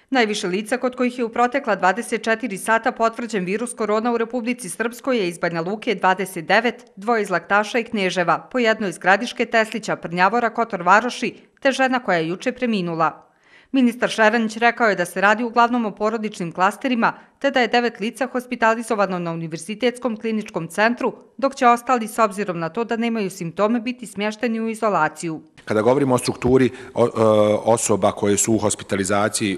Najviše lica kod kojih je u protekla 24 sata potvrđen virus korona u Republici Srpskoj je iz Banja Luke 29, dvoje iz Laktaša i Knježeva, po jedno iz Gradiške, Teslića, Prnjavora, Kotor Varoši, te žena koja je juče preminula. Ministar Šeranić rekao je da se radi uglavnom o porodičnim klasterima, te da je 9 lica hospitalizovano na Univerzitetskom kliničkom centru, dok će ostali, s obzirom na to da nemaju simptome, biti smješteni u izolaciju. Kada govorimo o strukturi osoba koje su u hospitalizaciji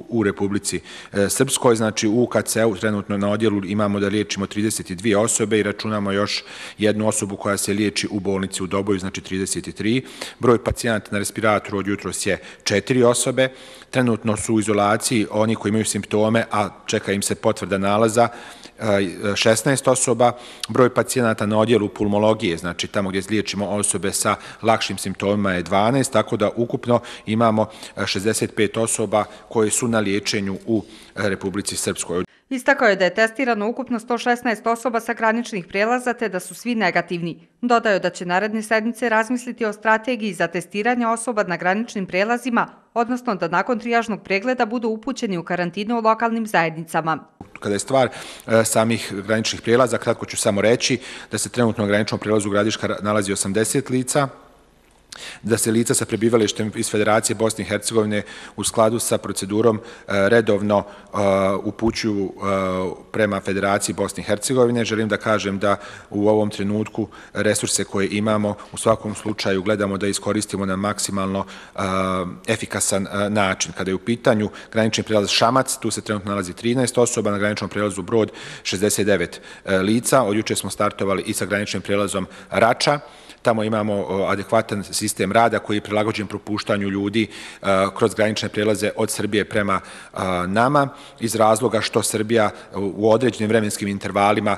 u Republici Srpskoj, znači u UKC-u trenutno na odjelu imamo da liječimo 32 osobe i računamo još jednu osobu koja se liječi u bolnici u Doboju, znači 33. Broj pacijenata na respiratoru od jutros je 4 osobe. Trenutno su u izolaciji oni koji imaju simptome, a čeka im se potvrda nalaza, 16 osoba. Broj pacijenata na odjelu pulmologije, znači tamo gdje liječimo osobe sa lakšim simptomima, je 12, tako da ukupno imamo 65 osoba koje su na liječenju u Republici Srpskoj. Istakao je da je testirano ukupno 116 osoba sa graničnih prijelaza te da su svi negativni. Dodao je da će naredne sedmice razmisliti o strategiji za testiranje osoba na graničnim prijelazima, odnosno da nakon trijažnog pregleda budu upućeni u karantinu u lokalnim zajednicama. Kada je stvar samih graničnih prijelaza, kratko ću samo reći da se trenutno na graničnom prijelazu Gradiška nalazi 80 lica, da se lica sa prebivalištem iz Federacije Bosne i Hercegovine u skladu sa procedurom redovno upućuju prema Federaciji Bosne i Hercegovine. Želim da kažem da u ovom trenutku resurse koje imamo u svakom slučaju gledamo da iskoristimo na maksimalno efikasan način. Kada je u pitanju granični prijelaz Šamac, tu se trenutno nalazi 13 osoba, na graničnom prijelazu Brod 69 lica. Od juče smo startovali i sa graničnim prijelazom Rača. Tamo imamo adekvatan sistem rada koji je prilagođen propuštanju ljudi kroz granične prijelaze od Srbije prema nama, iz razloga što Srbija u određenim vremenskim intervalima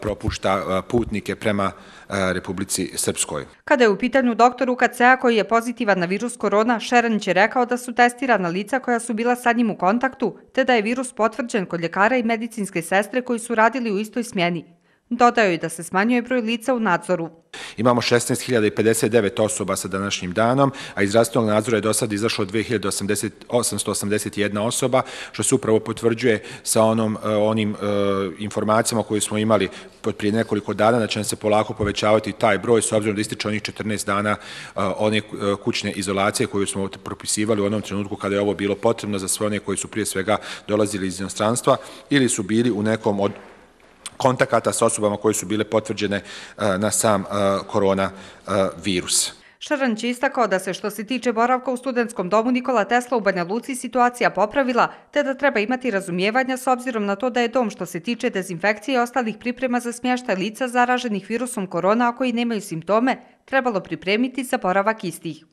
propušta putnike prema Republici Srpskoj. Kada je u pitanju doktor UKC-a koji je pozitivan na virus korona, Šeranić je rekao da su testirana lica koja su bila sa njim u kontaktu, te da je virus potvrđen kod ljekara i medicinske sestre koji su radili u istoj smjeni. Dodao je da se smanjuje broj lica u nadzoru. Imamo 16.059 osoba sa današnjim danom, a iz zdravstvenog nadzora je do sada izašlo 2.881 osoba, što se upravo potvrđuje sa onim informacijama koje smo imali prije nekoliko dana, da će nam se polako povećavati taj broj, s obzirom da ističe onih 14 dana one kućne izolacije koju smo propisivali u onom trenutku kada je ovo bilo potrebno za sve one koji su prije svega dolazili iz inostranstva ili su bili u nekom od kontakata s osobama koje su bile potvrđene na sam koronavirus. Šeranić je istakao da se što se tiče boravka u studentskom domu Nikola Tesla u Banja Luci situacija popravila, te da treba imati razumijevanja s obzirom na to da je dom što se tiče dezinfekcije i ostalih priprema za smještaj lica zaraženih virusom korona, a koji nemaju simptome, trebalo pripremiti za boravak istih.